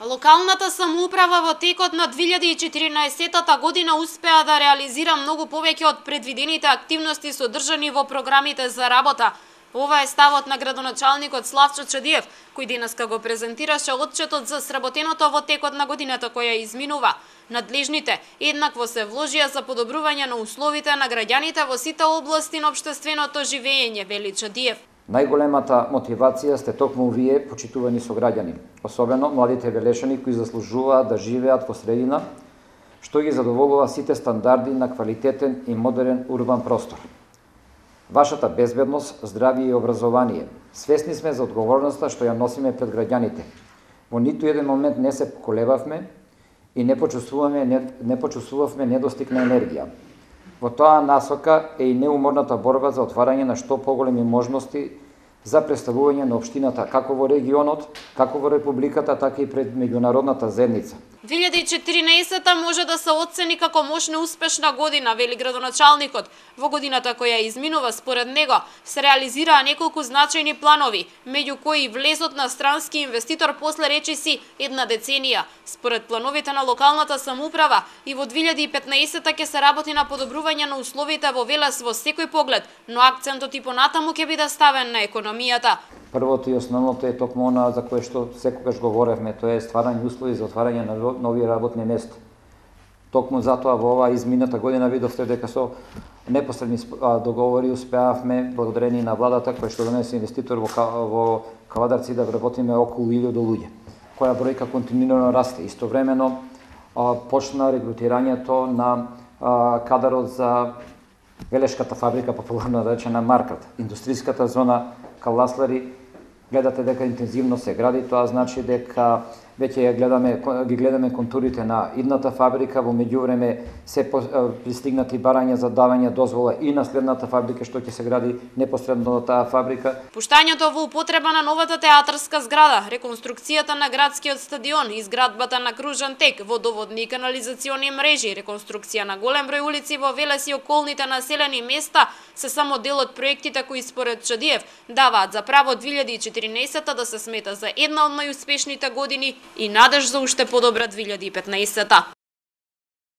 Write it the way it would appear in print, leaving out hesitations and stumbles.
Локалната самоуправа во текот на 2014 година успеа да реализира многу повеќе од предвидените активности содржани во програмите за работа. Ова е ставот на градоначалникот Славчо Чадиев, кој денеска го презентираше отчетот за сработеното во текот на годината која изминува. Надлежните еднакво се вложија за подобрување на условите на граѓаните во сите области на општественото живење, вели Чадиев. Најголемата мотивација сте токму вие, почитувани сограѓани, особено младите велешани кои заслужуваат да живеат во средина што ги задоволува сите стандарди на квалитетен и модерен урбан простор. Вашата безбедност, здравје и образование. Свесни сме за одговорноста што ја носиме пред граѓаните. Во ниту еден момент не се поколебавме и не почувствувавме недостиг на енергија. Во тоа насока е и неуморната борба за отварање на што поголеми можности за представување на општината како во регионот, како во републиката, така и пред меѓународната заедница. 2014 може да се оцени како мощна успешна година, вели градоначалникот. Во годината која изминува, според него, се реализираа неколку значајни планови, меѓу кои влезот на странски инвеститор после речиси една деценија. Според плановите на локалната самоуправа и во 2015 ќе се работи на подобрување на условите во Велес во секој поглед, но акцентот и понатаму ќе биде ставен на економијата. Првото и основното е токму она за кое што секогаш говоревме, тоа е стварање услови за отварање на нови работни места. Токму затоа во оваа измината година видовте дека со непосредни договори успеавме, благодарение на владата која што донесе инвеститор во Кавадарци, да вработиме околу 1000 луѓе, која бројка континуирано расте. Истовремено почна регрутирањето на кадарот за Велешката фабрика, популарно речена Маркат. Индустријската зона Каласлари, гледате дека интензивно се гради, тоа значи дека веќе ги гледаме контурите на идната фабрика, во меѓувреме се пристигнати барања за давање дозвола и на следната фабрика што ќе се гради непосредно до таа фабрика. Пуштањето во употреба на новата театарска зграда, реконструкцијата на градскиот стадион, изградбата на кружен тек, водоводни и канализациони мрежи, реконструкција на голем број улици во Велес и околните населени места се само дел од проектите кои според Чадиев даваат за право 2014 да се смета за една од најуспешните години и надеж за уште подобра 2015.